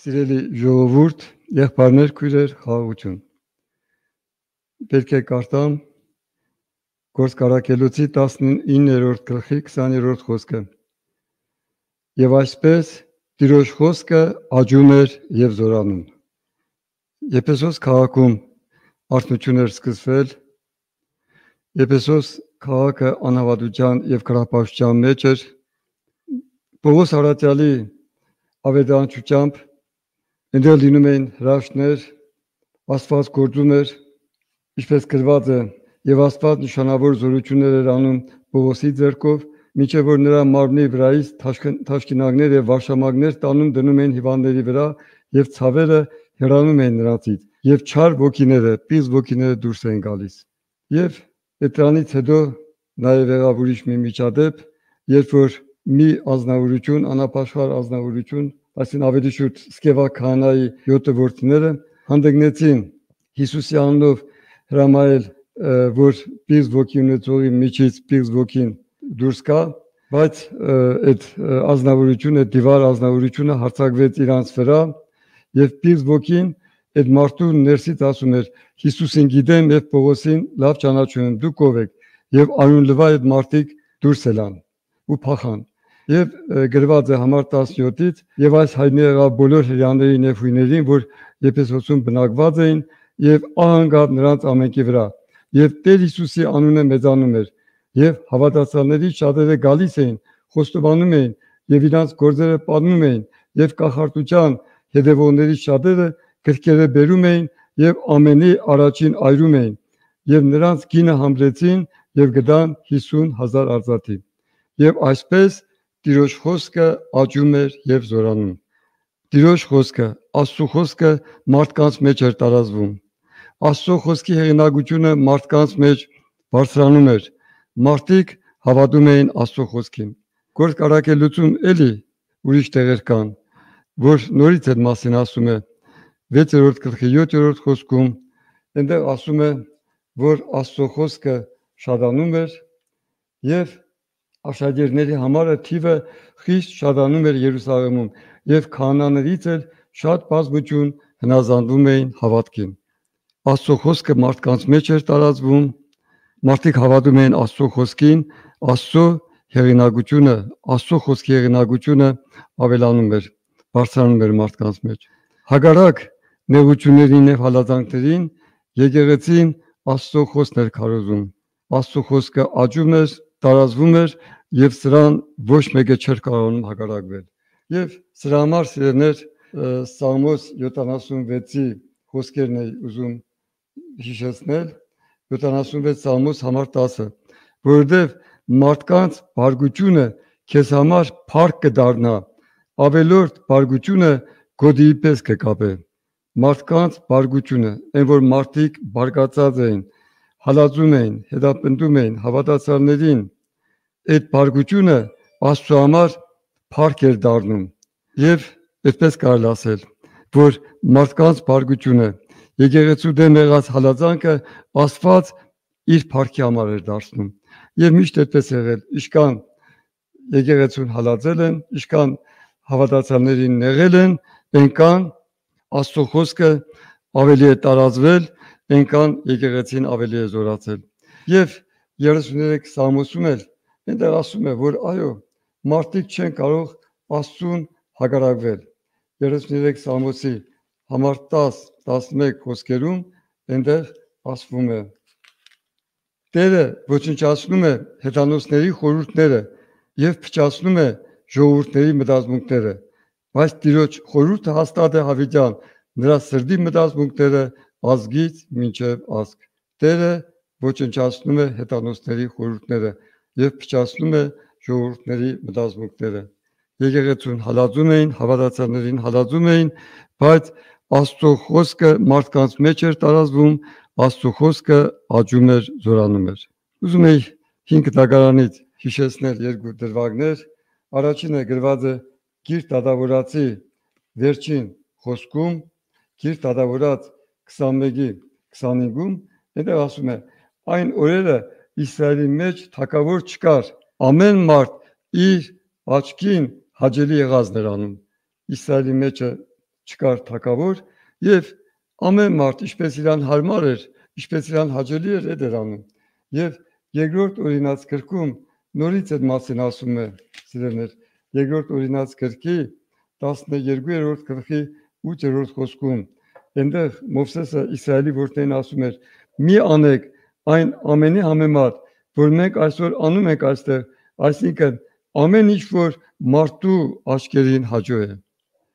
Սիրելի ժողովուրդ, եղբայրներ, քույրեր, խաղաղություն։ Պետք է կարդամ Գործկարակելոցի 19-րդ գլխի 20-րդ խոսքը։ Եվ այսպես Տիրոջ խոսքը աճում էր եւ զորանում։ Եփեսոս քաղաքում արթնություն էր սկսվել։ Եփեսոս քաղաքը անհավատության եւ քրապաշտության մեջ էր։ Պողոս Արաքյալի ավետարանչությամբ այնտեղ լինում էին հրաշքներ, Աստված գործում էր, ինչպես գրված է, եւ Աստված նշանավոր զորություններ էր անում Պողոսի ձեռքով, մինչև որ նրա մարմնի վրայից թաշկինակներ եւ վարշամակներ տանում դնում էին հիվանդների վրա եւ ցավերը հեռանում էին նրանցից եւ չար ոգիները, պիղծ ոգիները դուրս էին գալիս։ Եվ դրանից հետո նաեւ եղավ ուրիշ մի միջադեպ, երբ որ մի ազնվորություն, անապաշխար ազնվորություն, այսինքն ավելի շուտ Սկևա քահանայի 7 որդիները հանդգնեցին Հիսուսի անունով հրամայել, որ պիղծ ոգի ունեցողի միջից պիղծ ոգին դուրս գա, բայց այդ ազնվորությունը, դիվար ազնվորությունը հարձակվեց իրանց վրա եւ պիղծ ոգին այդ մարդու ներսից ասում էր. Հիսուսին գիտեմ եւ Պողոսին լավ ճանաչում եմ, դուք ով եք, եւ անունլվա այդ մարդիկ դուրս ելան ու փախան։ Եվ գրված է համար 17-ից եւ այս հայտնի եղավ բոլոր հրեաներին եւ հույներին, որ Եփեսոսում բնակված էին եւ ահանգավ նրանց ամենքի վրա։ Եվ Տեր Հիսուսի անունը մեծանում էր եւ հավատացյալների շատերը գալիս էին, խոստովանում էին եւ իրանց գործերը պատմում էին եւ կախարդության հետևողների շատերը գրքերը բերում էին եւ ամենի առաջին այրում էին եւ նրանց գինը համրեցին եւ գտան 50,000 արծաթի։ Եվ այսպես Տիրոջ խոսքը աճում էր եւ զորանում։ Տիրոջ խոսքը, Աստծո խոսքը մարդկանց մեջ էր տարածվում։ Աստծո խոսքի հեղինակությունը մարդկանց մեջ բարձրանում էր։ Մարդիկ հավատում էին Աստծո խոսքին։ Գործկարակելոցում էլի ուրիշ տեղեր կան, որ նորից այդ մասին ասում է 6-րդ գլխի 7-րդ խոսքում, այնտեղ ասում է, որ Աստծո խոսքը շատանում էր եւ աշակերտների համարը թիվը խիստ շատանում էր Երուսաղեմում եւ քահանաներից էլ շատ բազմություն հնազանդվում էին հավատքին։ Աստծո խոսքը մարդկանց մեջ էր տարածվում, մարդիկ հավատում էին Աստծո խոսքին, Աստծո հեղինակությունը, Աստծո խոսքի հեղինակությունը ավելանում էր, բարձրանում էր մարդկանց մեջ։ Հակառակ նեղություններին եւ հալածանքներին եկեղեցին Աստծո խոսքն էր քարոզում։ Աստծո խոսքը աճում էր, տարածվում էր եւ սրան ոչ մեկը չէր կարողանում հակառակվել։ Եվ սրա համար սիրելիներ Սաղմոս 76-ի խոսքերն է ուզում հիշեցնել, 76 Սաղմոս համար 10-ը, որովհետև մարդկանց բարգությունը քեզ համար փառք կդառնա, ավելորդ բարգությունը գոդիի պես կկապե։ Մարդկանց բարգությունը, այն որ մարդիկ բարգացած էին, հալածում էին, հետապնդում էին հավատացյալներին, այդ բարգությունը Աստծո համար փառք էր դառնում։ Եվ այդպես կարելի ասել, որ մարդկանց բարգությունը, եկեղեցու դեմ եղած հալածանքը Աստված իր փառքի համար էր դարձնում։ Եվ միշտ այդպես եղել, իշքան եկեղեցուն հալածել են, իշքան հավատացյալներին նեղել են, այնքան Աստծո խոսքը ավելի է տարածվել, այնքան եկեղեցին ավելի է զորացել։ Եվ 33 Սաղմոսում էլ այնտեղ ասում է, որ այո, մարդիկ չեն կարող Աստծուն հակառակվել։ 33 Սաղմոսի համար 10-11 խոսքերում այնտեղ ասվում է. Տերը ոչնչացնում է հեթանոսների խորհուրդները եւ փչացնում է ժողովուրդների մտածմունքները, բայց Տիրոջ խորհուրդը հաստատ է հավիտյան, նրա սրտի մտածմունքները ազգից մինչև ազգ։ Տերը ոչնչացնում է հեթանոսների խորհուրդները եւ փչացնում է ժողովուրդների մտածմունքները։ Եկեղեցուն հալածում էին, հավատացյալներին հալածում էին, բայց Աստծո խոսքը մարդկանց մեջ էր տարածվում, Աստծո խոսքը աճում էր, զորանում էր։ Ուզում եի 5 դագարանից հիշեցնել երկու դրվագներ։ Առաջինը գրված է Գիրք Դատավորացի վերջին խոսքում, Գիրք Դատավորաց 21-ի 25-ում, այնտեղ ասում է. այն օրերը Իսրայելի մեջ թագավոր չկար, ամեն մարդ իր աչքին հաճելի եղածն էր անում։ Իսրայելի մեջը չկար թակավոր եւ ամեն մարդ ինչպես իրան հարմար էր, ինչպես իրան հաճելի էր այդ էր անում։ Եվ երկրորդ օրինաց գրքում նորից այդ մասին ասում է, սիրելիներ, երկրորդ օրինաց գրքի 12-րդ գլխի 8-րդ խոսքում այնտեղ Մովսեսը Իսրայելի որդերին ասում էր. մի անեք այն ամենի համեմատ, որ մենք այսօր անում ենք այստեղ, այսինքն ամեն ինչ որ մարդու աչքերին հաջող է։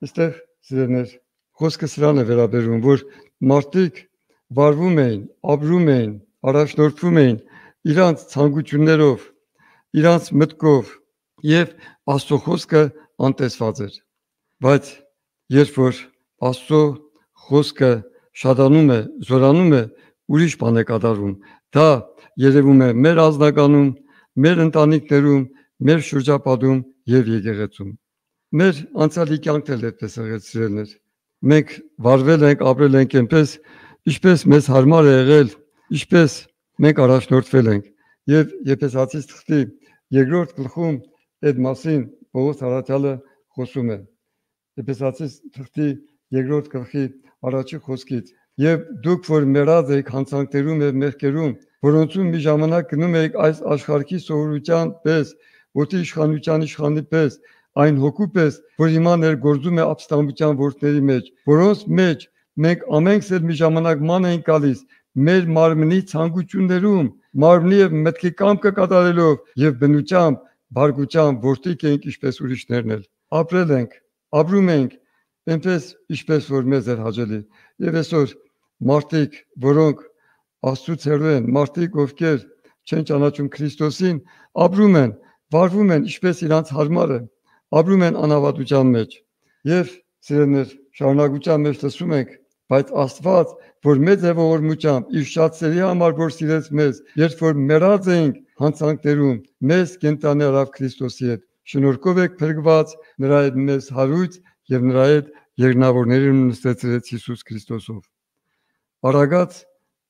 Այստեղ սիրելիներ, խոսքը սրան է վերաբերում, որ մարդիկ վարվում էին, ապրում էին, առաջնորդվում էին իրանց ցանկություններով, իրանց մտքով եւ Աստծո խոսքը անտեսված էր։ Բայց երբ որ Աստծո խոսքը շատանում է, զորանում է, ուրիշ բան է կատարվում։ Դա երևում է մեր ազնագանում, մեր ընտանիքներում, մեր շրջապատում եւ եկեղեցում։ Մեր անցյալի կյանքն էլ այդպես եղեցրելներ։ Մենք վարվել ենք, ապրել ենք այնպես, ինչպես մեզ հարմար է եղել, ինչպես մենք առաջնորդվել ենք։ Եվ Եփեսացիս թղթի 2-րդ գլխում այդ մասին Պողոս առաքյալը խոսում է։ Եփեսացիս թղթի 2-րդ գլխի առաջի խոսքից. եւ դուք որ մեռած եք հանցանքներում եւ մեղքերում, որոնցում մի ժամանակ գնում եք այս աշխարհի սովորության պես, ոտի իշխանության իշխանի պես, այն հոգու պես, որ հիմա ներգործում է ապստամբության որդների մեջ, որոնց մեջ մենք ամենքս էլ մի ժամանակ ման ենք գալիս մեր մարմնի ցանկություններում, մարմնի եւ մտքի կամքը կատարելով եւ բնությամբ, բարգությամբ որդիկ ենք ինչպես ուրիշներն էլ։ Ապրել ենք, ապրում ենք այնպես ինչպես որ մեզ էր հաճելի։ Եվ այսօր մարդիկ, որոնք Աստծուց հեռու են, մարդիկ, ովքեր չեն ճանաչում Քրիստոսին, ապրում են, վարվում են ինչպես իրանց հարմար է, ապրում են անավատության մեջ։ Եվ սիրելիներ, շարունակության մեջ լսում ենք, բայց Աստված, որ մեծ է ողորմությամբ, իր շատ սերի համար, որ սիրեց մեզ, երբ որ մեռած էինք հանցանքներում, մեզ կենտանի արավ Քրիստոսի հետ։ Շնորհքով եք փրկված, նրա հետ մեզ հարույց եւ նրա հետ երկնավորներին նստեցրեց Հիսուս Քրիստոսով։ Արագած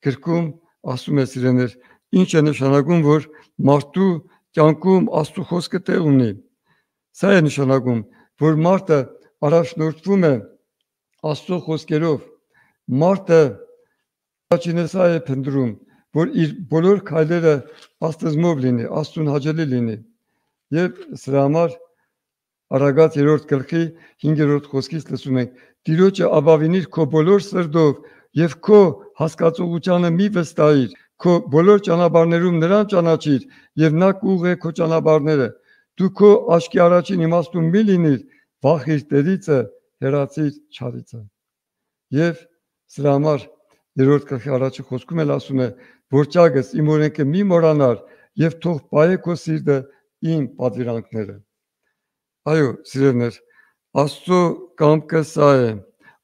գրքում ասում է սիրելիներ, ինչ է նշանակում, որ մարդու կյանքում Աստծո խոսքը տեղ ունի։ Սա է նշանակում, որ մարդը առաջնորդվում է Աստծո խոսքերով։ Մարդը առաջինը սա է փնտրում, որ իր բոլոր քայլերը աստծմով լինի, Աստծուն հաճելի լինի։ Եվ սրա համար Արագած 3-րդ գլխի 5-րդ խոսքից լսում ենք. Տիրոջը ապավինիր քո բոլոր սրտով եւ քո հասկացողությանը մի վստահիր, քո բոլոր ճանապարհներում նրան ճանաչիր եւ նա կուղղի քո ճանապարհները։ Դու քո աչքի առաջին իմաստուն մի լինիր, վախիր Տերիցը, հեռացիր չարիցը։ Եվ սրա համար 3-րդ գլխի առաջի խոսքում էլ ասում է, որ ճագս իմ օրենքը մի մոռանար եւ թող պահե քո սիրտը իմ պատվիրանքները։ Այո, սիրելիներ, Աստծո կամքը սա է։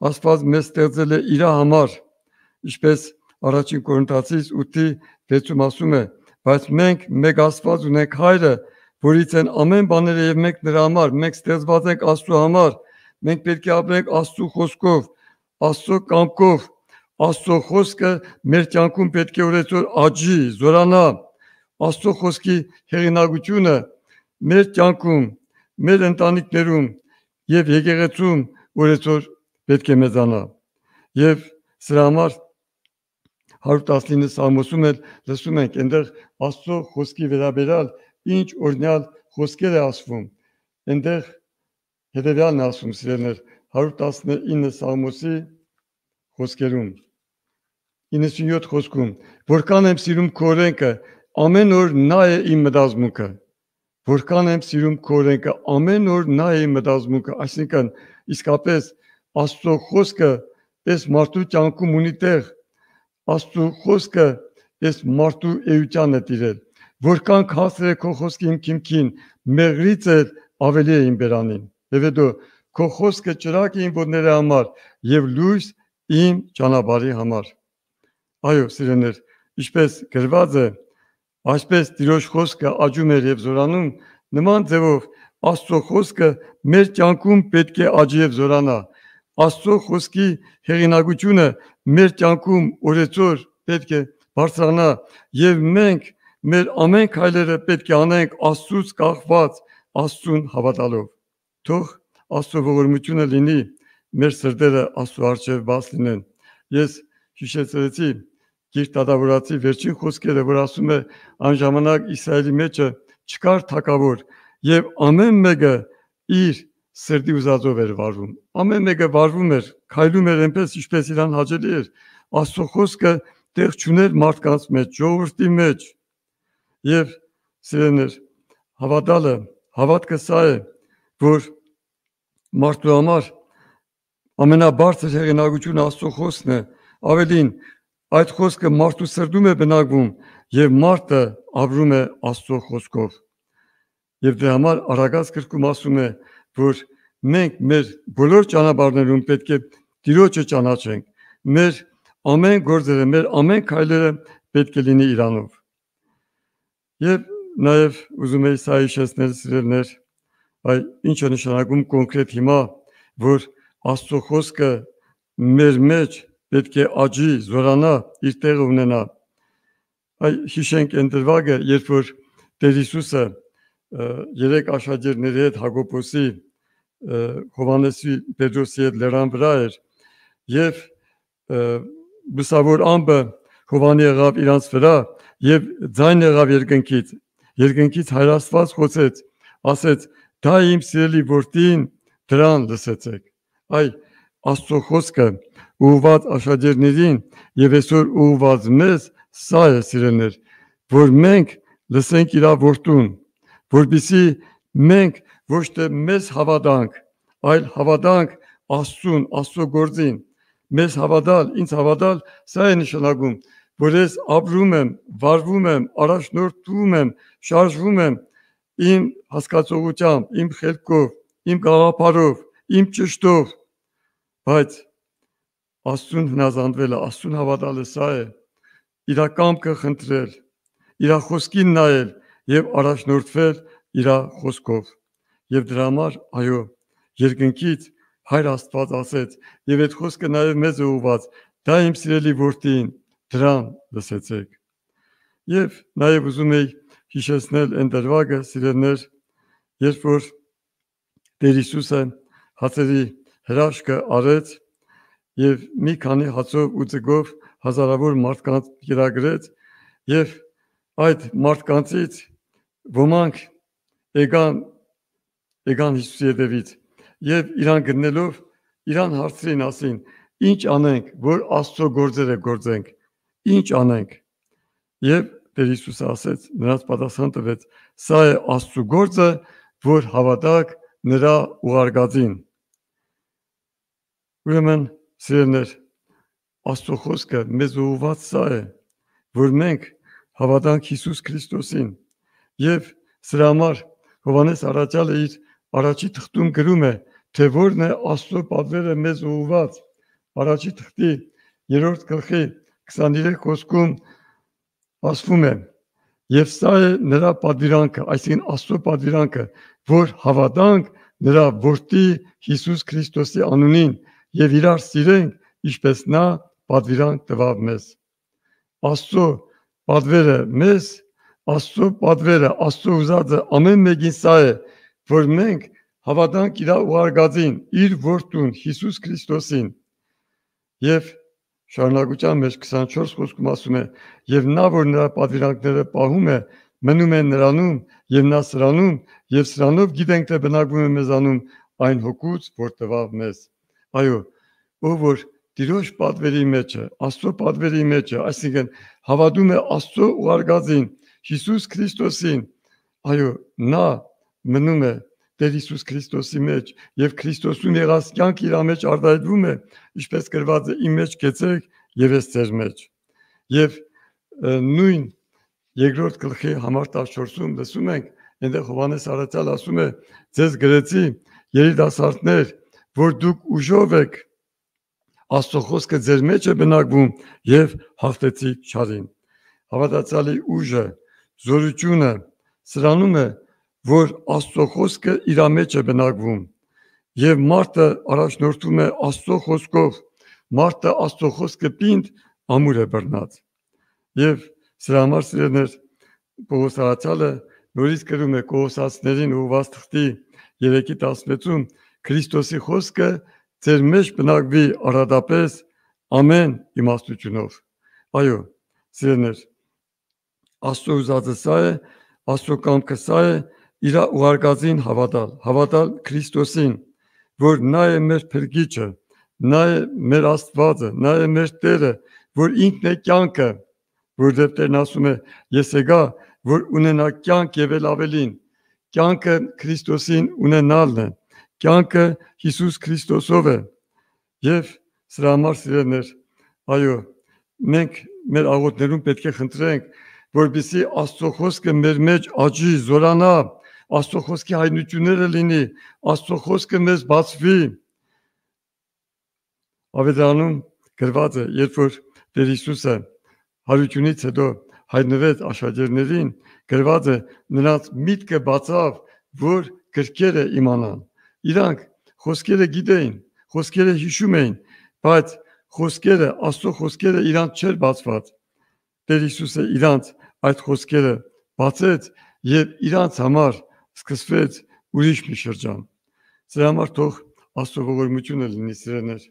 Աստված մեզ ստեղծել է իր համար, ինչպես առաջին Կորինթացիս 8:6-ում ասում է, բայց մենք մեկ Աստված ունենք Հայրը, որից են ամեն բաները եւ մենք նրա համար, մենք ստեղծված ենք Աստծո համար, մենք պետք է ապրենք Աստծո խոսքով, Աստծո կամքով, Աստծո խոսքը մեր կյանքում պետք է օրեցօր աճի, զորանա, Աստծո խոսքի հեղինակությունը մեր կյանքում, մեր ընտանիքներում եւ եկեղեցում օրեցօր պետք է մեծանա։ Եվ սրա համար 119 Սաղմոսում էլ լսում ենք, այնտեղ Աստծո խոսքի վերաբերյալ ինչ օրհնյալ խոսքեր է ասվում։ Այնտեղ հետևյալն է ասում, սիրելիներ, 119 Սաղմոսի խոսքերում 97 խոսքում, որքան եմ սիրում քո օրենքը, ամեն օր նա է իմ մտածմունքը։ Որքան եմ սիրում քո օրենքը, ամեն օր նա է իմ մտածմունքը, այսինքն իսկապես Աստծո խոսքը այս մարդու կյանքում ունի տեղ, Աստծո խոսքը այս մարդու էության է տիրել։ Որքան քասր է քո խոսքը իմ քիմքին, մեղրից էլ ավելի է իմ բերանին։ Եվ հետո քո խոսքը ճրագ է իմ ոտների համար եւ լույս իմ ճանապարհի համար։ Այո, սիրելիներ, ինչպես գրված է, այսպես Տիրոջ խոսքը աճում էր եւ զորանում, նման ձևով Աստծո խոսքը մեր կյանքում պետք է աճի եւ զորանա։ Աստծո խոսքի հեղինակությունը մեր կյանքում օրեցօր պետք է բարձրանա եւ մենք մեր ամեն քայլերը պետք է անենք Աստծուց կախված, Աստծուն հավատալով։ Թող Աստծո ողորմությունը լինի մեր սրտերը Աստծո առջև բաց լինեն։ Ես հիշեցրեցի Գիրք Դատավորացի վերջին խոսքերը, որ ասում է այն ժամանակ Իսրայելի մեջը չկար թագավոր եւ ամեն մեկը իր սրտի ուզածով էր վարվում։ Ամեն մեկը վարվում էր, քայլում էր այնպես, ինչպես իրան հաճելի էր։ Աստծո խոսքը տեղ չուներ մարդկանց մեջ, ժողովրդի մեջ։ Եվ սիրելիներ, հավատալը, հավատքը սա է, որ մարդու համար ամենաբարձր հեղինակությունը Աստծո խոսքն է, ավելին այդ խոսքը մարդու սրտում է բնակվում եւ մարդը ապրում է Աստծո խոսքով։ Եվ դրա համար Արագած գրքում ասում է, որ մենք մեր բոլոր ճանապարհներում պետք է Տիրոջը ճանաչենք, մեր ամեն գործերը, մեր ամեն քայլերը պետք է լինի իրանով։ Եվ նաեւ ուզում եի սա հիշեցնել սիրելիներ, այ ինչ է նշանակում կոնկրետ հիմա, որ Աստծո խոսքը մեր մեջ պետք է աճի, զորանա, իր տեղը ունենա։ Այ հիշենք այն դրվագը, երբ որ Տեր Հիսուսը երեք աշակերտների հետ Հակոբոսի, Հովհաննեսի, Պետրոսի հետ լեռան վրա էր եւ լուսավոր ամպը Հովհաննի եղավ իրանց վրա եւ ձայն եղավ երկնքից Հայր Աստված խոսեց, ասեց. «Դա իմ սիրելի որդին, դրան լսեցեք»։ Այ Աստծո խոսքը ուղղված աշակերտներին եւ այսօր ուղղված մեզ սա է, սիրելիներ, որ մենք լսենք իր որդուն, որպեսզի մենք ոչ թե մեզ հավատանք, այլ հավատանք Աստծուն, Աստծո գործին։ Մեզ հավատալ, ինձ հավատալ, սա է նշանակում, որ ես ապրում եմ, վարվում եմ, առաջնորդվում եմ, շարժվում եմ իմ հասկացողությամբ, իմ խելքով, իմ գաղափարով, իմ ճշտով, բայց Աստծուն հնազանդվելը, Աստծուն հավատալը սա է, իր կամքը խնդրել, իր խոսքին նայել եւ առաջնորդվել իր խոսքով։ Եվ դրա համար, այո, երկնքից Հայր Աստված ասեց, եւ այդ խոսքը նաեւ մեզ է ուղված. «Դա իմ սիրելի որդին, դրան լսեցեք»։ Եվ նաեւ ուզում եի հիշեցնել այն դրվագը, սիրելիներ, երբ որ Տեր Հիսուսը հացերի հրաշքը արեց եւ մի քանի հացով ու ձգով հազարավոր մարդկանց կերակրեց եւ այդ մարդկանցից ոմանք եկան Հիսուսի հետևից եւ իրան գտնելով իրան հարցրին, ասին. «Ինչ անենք, որ Աստծո գործերը գործենք, ինչ անենք»։ Եվ Տեր Հիսուսը ասեց, նրանց պատասխան տվեց. «Սա է Աստծո գործը, որ հավատաք նրա ուղարկածին»։ Ուրեմն, սիրելիներ, Աստծո խոսքը մեզ ուղղված սա է, որ մենք հավատանք Հիսուս Քրիստոսին։ Եվ սրա համար Հովհաննես առաքյալը իր առաջի թղթում գրում է, թե որն է Աստծո պատվերը մեզ ուղղված։ Առաջի թղթի 3-րդ գլխի 23 խոսքում ասվում է. «Եվ սա է նրա պատվիրանքը», այսինքն Աստծո պատվիրանքը, որ հավատանք նրա որդի Հիսուս Քրիստոսի անունին եւ իրար սիրենք, ինչպես նա պատվիրանք տվավ մեզ։ Աստծո պատվերը մեզ, Աստծո պատվերը, Աստծո ուզածը ամեն մեկին սա է, որ մենք հավատանք իր ուղարկածին, իր որդուն Հիսուս Քրիստոսին։ Եվ շարունակության մեջ 24 խոսքում ասում է. «Եվ նա, որ նրա պատվիրանքները պահում է, մնում է նրանում եւ նա սրանում, եւ սրանով գիտենք, թե բնակվում է մեզանում այն հոգուց, որ տվավ մեզ»։ Այո, ով որ Տիրոջ պատվերի մեջ է, Աստծո պատվերի մեջ է, այսինքն հավատում է Աստծո ուղարկածին, Հիսուս Քրիստոսին, այո, նա մնում է Տեր Հիսուս Քրիստոսի մեջ եւ Քրիստոսում եղած կյանքը իր մեջ արտահայտվում է, ինչպես գրված է. «Իմ մեջ կեցեք եւ ես ձեր մեջ»։ Եվ նույն 2-րդ գլխի համար 14-ում լսում ենք, այնտեղ Հովհաննես առաքյալը ասում է. «Ձեզ գրեցի, երիտասարդներ, որ դուք ուժով եք, Աստծո խոսքը ձեր մեջ է բնակվում եւ հաղթեցիք չարին»։ Հավատացյալի ուժը, զորությունը սրանում է, որ Աստծո խոսքը իր մեջ է բնակվում եւ մարդը առաջնորդվում է Աստծո խոսքով, մարդը Աստծո խոսքը պինդ ամուր է բռնած։ Եվ սրա համար, սիրելիներ, Պողոս առաքյալը նորից գրում է Կողոսացիներին ուղղված թղթի 3-16-ում. «Քրիստոսի խոսքը ձեր մեջ բնակվի արադապես ամեն իմաստությունով։ Այո, սիրելիներ, Աստծո ուզածը սա է, Աստծո կամքը սա է, իր ուղարկածին հավատալ Քրիստոսին, որ նա է մեր փրկիչը, նա է մեր Աստվածը, նա է մեր Տերը, որ ինքն է կյանքը, որովհետև Տերն ասում է, ես եկա, որ ունենա կյանք եւ էլ ավելին, կյանքը Քրիստոսին ունենալն է, կյանքը Հիսուս Քրիստոսով է, եւ սրա համար սիրելիներ, այո, մենք մեր աղոթներում պետք է խնդրենք, որպեսզի Աստծո խոսքը մեր մեջ աճի, զորանա, Աստծո խոսքի հայտնությունները լինի, Աստծո խոսքը մեզ բացվի։ Ավետարանում գրված է, երբ որ Տեր Հիսուսը հարությունից հետո հայտնվեց աշակերտներին, գրված է, նրանց միտքը բացավ, որ գրքերը իմանան։ Իրանք խոսքերը գիտեին, խոսքերը հիշում էին, բայց խոսքերը, Աստծո խոսքերը իրանք չէր բացված։ Տեր Հիսուսը իրանք այդ խոսքերը բացեց եւ իրանք համար սկսվեց ուրիշ մի շրջան։ Սրա համար թող Աստծո ողորմությունը լինի, սիրելիներ։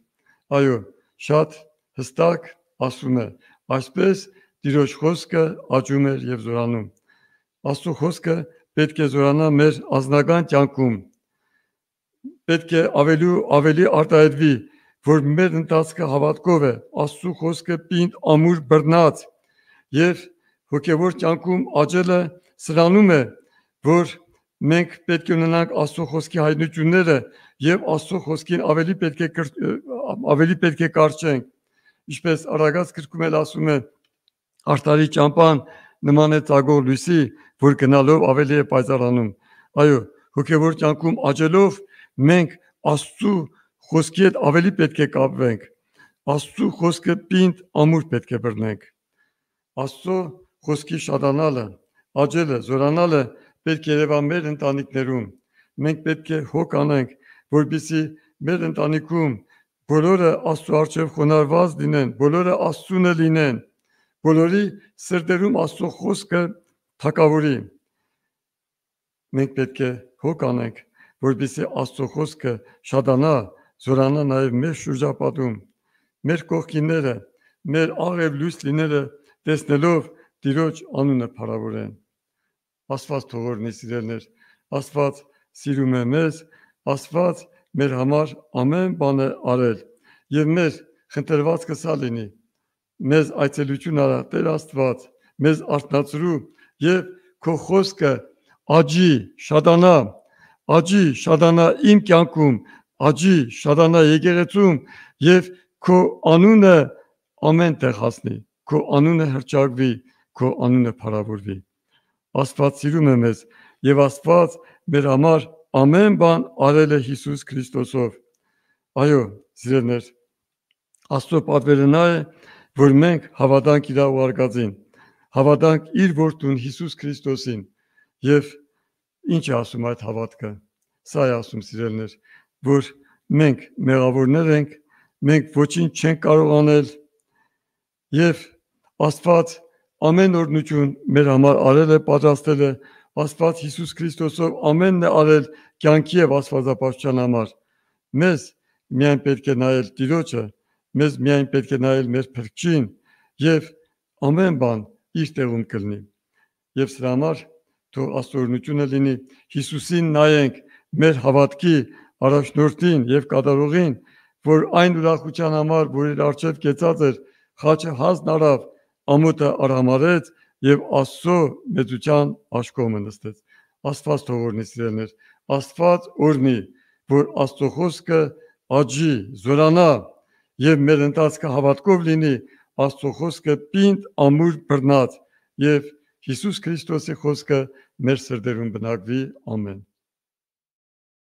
Այո, շատ հստակ ասում է, այսպես Տիրոջ խոսքը աճում էր եւ զորանում։ Աստծո խոսքը պետք է զորանա մեր անձնական կյանքում։ Պետք է ավելի արտահայտվի, որ մեր ընթացքը հավատքով է, Աստծո խոսքը պինդ ամուր բռնած եւ հոգեվոր կյանքում աճելը սրանում է, որ մենք պետք է ունենանք Աստծո խոսքի հայտնությունները եւ Աստծո խոսքին ավելի պետք է կարճենք, ինչպես Արագած գրքում էլ ասում է, Արտարի ճամփան նման է ծագող լույսի, որ գնալով ավելի է պայծառանում։ Այո, հոգեվոր կյանքում աճելով մենք Աստծո խոսքի հետ ավելի պետք է կապվենք։ Աստծո խոսքը պինդ ամուր պետք է բռնենք։ Աստծո խոսքի շատանալը, աճելը, զորանալը պետք է երևա մեր ընտանիքներում։ Մենք պետք է հոգ անենք, որպեսզի մեր ընտանիքում բոլորը Աստծո առջև խոնարհված լինեն, բոլորը Աստծունը լինեն, բոլորի սրտերում Աստծո խոսքը թակավորի։ Մենք պետք է հոգ անենք, որպեսզի Աստծո խոսքը շատանա, զորանա նաև մեր շրջապատում, մեր կողքինները, մեր աղև լույս լինելը տեսնելով Տիրոջ անունը փառավորեն։ Աստված թողորնի, սիրելիներ, Աստված սիրում է մեզ, Աստված մեր համար ամեն բան է արել եւ մեր խնդրվածքը սա լինի։ Մեզ այցելություն արա Տեր Աստված, մեզ արթնացրու եւ քո խոսքը աճի, շատանա իմ կյանքում, աճի, շատանա եկեղեցում եւ քո անունը ամեն տեղ հասնի, քո անունը հռչակվի, քո անունը փառավորվի։ Աստված սիրում է մեզ եւ Աստված մեր համար ամեն բան արել է Հիսուս Քրիստոսով։ Այո, սիրելիներ, Աստծո պատվերը նա է, որ մենք հավատանք իր ուղարկածին, հավատանք իր որդուն Հիսուս Քրիստոսին եւ ինչ է ասում այդ հավատքը։ Սա է ասում, սիրելիներ, որ մենք մեղավորներ ենք, մենք ոչինչ չենք կարող անել եւ Աստված ամեն օրնություն մեր համար արել է, պատրաստել է, Աստված Հիսուս Քրիստոսով ամենն է արել կյանքի եւ աստվածապաշտության համար։ Մեզ միայն պետք է նայել Տիրոջը, մեզ միայն պետք է նայել մեր Փրկչին եւ ամեն բան իր տեղում կլինի։ Եվ սրա համար թող աստորությունը լինի Հիսուսին նայենք, մեր հավատքի առաջնորդին եւ կատարողին, որ այն ուրախության համար, որ իր արժեվ կեցած էր, խաչը հանձն արավ, ամոթը արհամարեց եւ Աստծո մեծության աշկոմը նստեց։ Աստված թողորնի, սիրելիներ, Աստված օրհնի, որ Աստծո խոսքը աճի, զորանա եւ մեր ընթացքը հավատքով լինի, Աստծո խոսքը պինդ ամուր բռնած եւ Հիսուս Քրիստոսի խոսքը մեր սրտերում բնակվի։ Ամեն։